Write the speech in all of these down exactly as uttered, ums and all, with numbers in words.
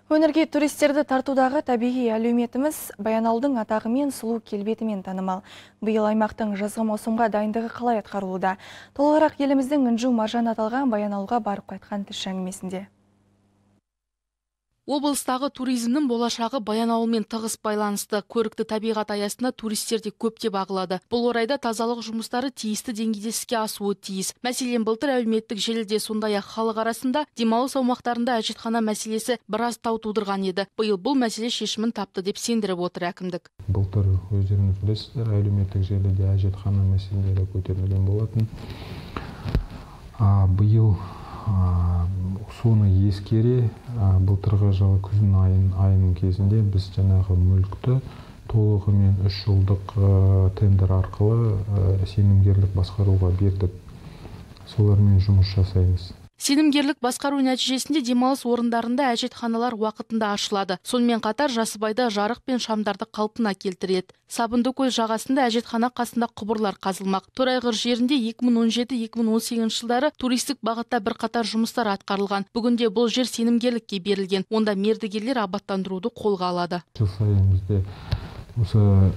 Өнерге туристерді тартудағы табиғи әлеуметіміз Баянауылдың атағымен, сұлу келбетімен танымал. Биыл аймақтың жазғы маусымға дайындығы қалай атқарылуда? Толығырақ еліміздің інжу маржан аталған Баянауылға барып қайтқан тілші әңгімесінде. Облыстағы туризмнің болашағы Баянауылмен тығыз байланысты. Көрікті табиғат аясында туристер де көптеп ағылады. Бұл орайда тазалық жұмыстары тиісті деңгейде іске асуы тиіс. Мәселен, былтыр әлеуметтік желіде, сондай-ақ халық арасында демалыс аумақтарында әжетхана мәселесі біраз дау тудырған еді. Биыл бұл мәселе шешімін тапты деп сендіріп отыр әкімдік. Былтыр өздеріңіз білесіздер, әлеуметтік желіде әжетхана мәселелері көтерілген болатын. Биыл соны ескере, былтырғы жылы күздің айының кезінде біз жаңағы мүлікті толығымен үш жылдық тендер арқылы сенімгерлік басқаруға бердік. Солармен жұмыс жасаймыз. Сенімгерлік басқару нәтижесінде демалыс орындарында әжетханалар уақытында ашылады. Сонымен қатар Жасыбайда жарық пен шамдарды қалпына келтіреді. Сабындыкөл жағасында әжетхана қасында құбырлар қазылмақ. Торайғыр жерінде екі мың он жеті екі мың он сегізінші жылдары туристік бағытта бірқатар жұмыстар атқарылған. Бүгінде бұл жер сенімгерлікке берілген. Онда мердігерлер абаттандыруды қолға алады. Жыл сайын бізде осы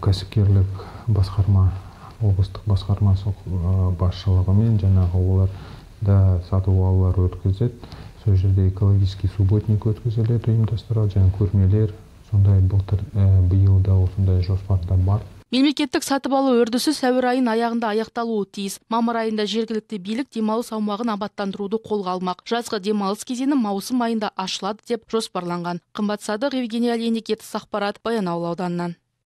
кәсіпкерлік басқарма облыстық басқармасы басшылығымен жаңағы олар да сатып алулар өткізеді. Сол жерде экологический субботник өткізіледі, ұйымдастырылады, және көрмелер, сондай былтыр биыл да осындай жоспарда бар. Мемлекеттік сатып алу үрдісі сәуір айын аяғында аяқталуы тиіс. Мамыр айында жергілікті билік демалыс аумағын абаттандыруды қолға алмақ. Жазғы демалыс кезеңі маусым айында ашылады деп жоспарланған. Қымбат Садық, Евгений Олейник, Ақпарат, Баянауыл ауданынан.